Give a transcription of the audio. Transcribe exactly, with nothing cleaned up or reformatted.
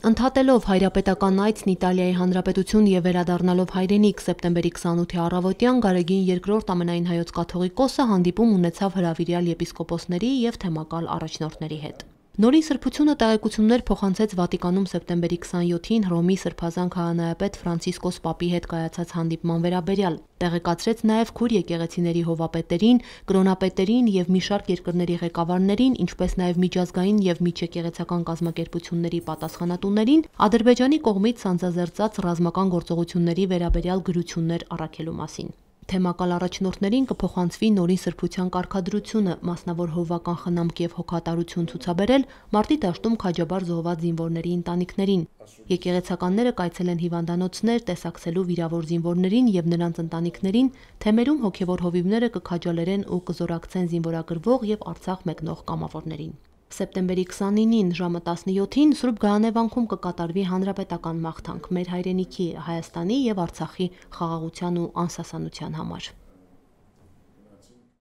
Ընդհատելով հայրապետական այցն Իտալիայի Հանրապետություն և վերադառնալով հայրենիք սեպտեմբերի քսանութի առավոտյան Գարեգին երկրորդ ամենայն հայոց կաթողիկոսը հանդիպում ունեցավ հրավիրյալ եպիսկոպոսների և թեմակալ առաջնորդների հետ։ Նորին սրբությունը տեղեկություններ փոխանցեց Վատիկանում սեպտեմբերի քսանյոթին Հռոմի սրբազան քահանայապետ Ֆրանցիսկոս պապի հետ կայացած հանդիպման վերաբերյալ, տեղեկացրեց նաև քուր եկեղեցիների հովվապետերին, կրոնապետերին և մի շարք երկրների ղեկավարներին, ինչպես նաև միջազգային և միջեկեղեցական կազմակերպությունների պատասխանատուներին Ադրբեջանի կողմից սանձազերծած ռազմական գործողությունների վերաբերյալ գրություններ առաքելու մասին։ Թեմակալ առաջնորդներին կփոխանցվի նորին սրբության կարգադրությունը, մասնավոր հովվական խնամք և հոգատարություն ցուցաբերել մարտի դաշտում քաջաբար զոհված զինվորների ընտանիքներին։ Եկեղեցականները կայցելեն հիվանդանոցներ, տեսակցելու վիրավոր զինվորներին և նրանց ընտանիքներին, թեմերում հոգևոր հովիվները կքաջալերեն ու կզորակցեն զինվորագրվող և Արցախ մեկնող կամավորներին։ Սեպտեմբերի քսանինին ժամը տասնյոթին Սուրբ Գայանե վանքում կկատարվի հանրապետական մաղթանք մեր հայրենիքի, Հայաստանի և Արցախի խաղաղության ու անսասանության համար։